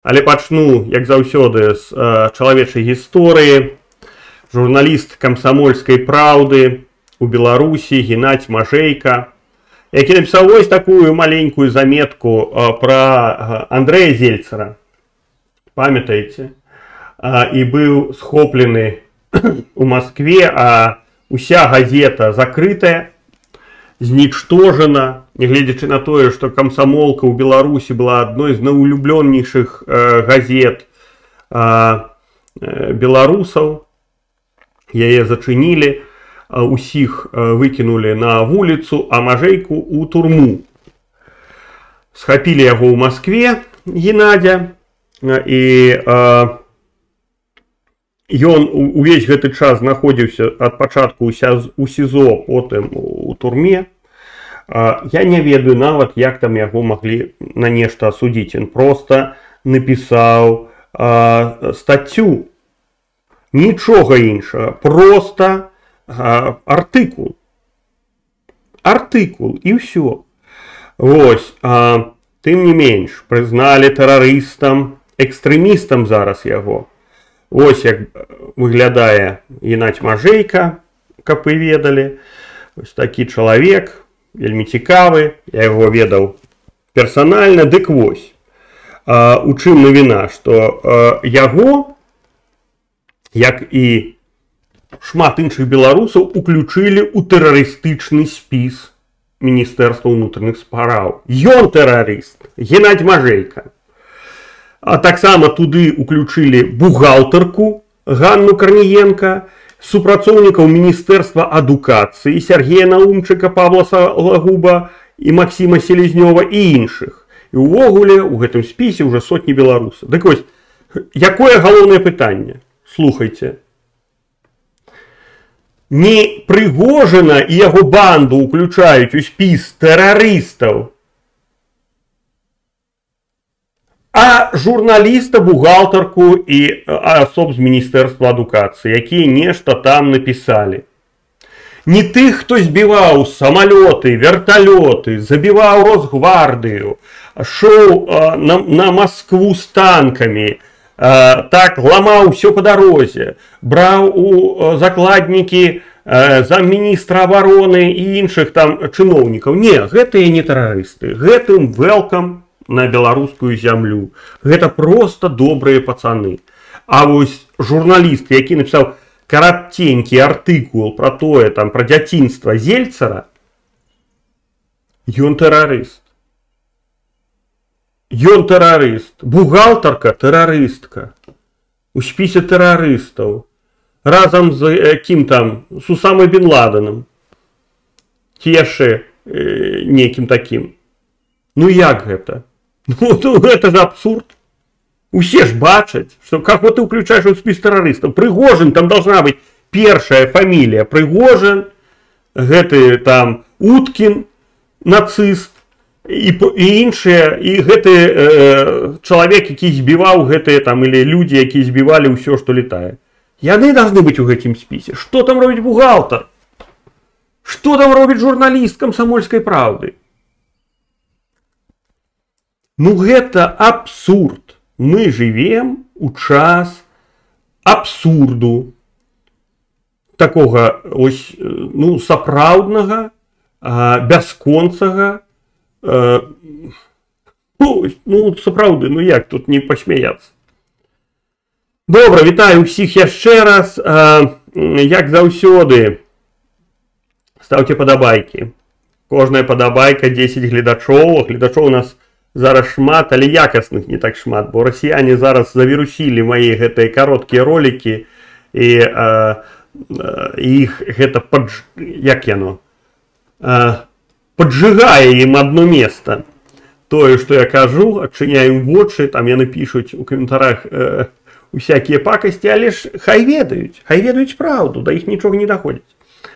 Але пачну, як заўсёды, з чалавечай гісторыі. Журналіст камсамольскай праўды у Беларусі Геннадзь Мажэйка, які напісаў вось такую маленькую заметку пра Андрэя Зельцара. Памятаеце? І быў схоплены у Маскве, а уся газета закрытая, знічтожана, нягледзячы на тое, што камсамолка ў Беларусі была адной з найулюблёнейшых газет беларусаў. Яе зачынілі, усіх выкінулі на вуліцу, а Мажэйку ў турму. Схапілі яго ў Маскве, Геннадзя, і ён увесь гэты час знаходзіўся ад пачатку у СІЗО, потым у турме. Я не ведаю нават, як там яго маглі на нешта асудзіць. Ён проста напісаў стаццю. Нічога іншага, проста артыкул. Артыкул, і ўсё. Вось, тым не менш, прызналі тэрарыстам, экстрэмістам зараз яго. Вось як выглядае Геннадзь Мажэйка, каб вы ведалі. Вось такі чалавек, вельмі цікавы, я яго ведаў персанальна. Дык вось, у чым навіна, што яго, як і шмат іншых беларусаў, уключылі ў тэрарыстычны спіс Міністэрства ўнутраных спраў. Ён тэрарыст, Геннадзь Мажэйка. А таксама туды уключылі бухгалтарку Ганну Карніенка, супрацоўнікаў Міністэрства адукацыі Сергея Наумчыка, Павла Салагуба і Максіма Селезнёва і іншых. І ўвогуле ў гэтым спісе ўжо сотні беларусаў. Дык вось, якое галоўнае пытанне? Слухайце. Не Прыгожина і яго банду уключаюць у спіс тэрарыстаў, а журналіста, бухгалтарку і асоб з Міністэрства адукацыі, якія нешта там напісалі. Не тых, хто збіваў самалёты, верталёты, забіваў Росгвардыю, шоў на Маскву з танкамі, так ламаў усё па дарозе, браў у закладнікі замміністра абароны і іншых там чыноўнікаў. Не, гэтыя не тэрарысты, гэтым welcome на беларускую зямлю. Гэта проста добрыя пацаны. А вось журналіст, які напісаў караценькі артыкул пра тое, там, пра дзяцінства Зельцара, ён тэрарыст. Ён тэрарыст. Бухгалтарка тэрарыстка. У спісе тэрарыстаў. Разам з кім там? З Усамай Бін Ладенам. Ці яшчэ некім такім. Ну як гэта? Ну гэта ж абсурд. Усе ж бачаць, што како ты ўключаеш у спіс тэрарыстаў. Прыгожин, там должна быць першая фамілія. Прыгожин, гэты там Уткін, нацыст, і іншыя, і гэты чалавек, які збіваў гэтыя там, или людзі, якія збівалі ўсё, што летае. Яны должны быць у гэтым спісе. Што там робіць бухгалтар? Што там робіць журналіст камсамольскай праўды? Ну гэта абсурд. Мы жывем у час абсурду. Такога ось, ну, сапраўднага, бясконцага, ну, сапраўды, ну як тут не пасмяяцца. Добра, вітаю ўсіх яшчэ раз. Як заўсёды, ставце падабайкі. Кожная падабайка 10 гледачоў. Гледачоў у нас зараз шмат, але якасных не так шмат, бо расіяне зараз завірусілі мае гэтыя кароткія ролікі, і іх гэта як яно? Поджигае ім одно место. Тое, што я кажу, адчыняем вочы, там яны пішуць у каментарах усякія пакасці, але ж хай ведаюць праўду, да іх нічога не даходзіць.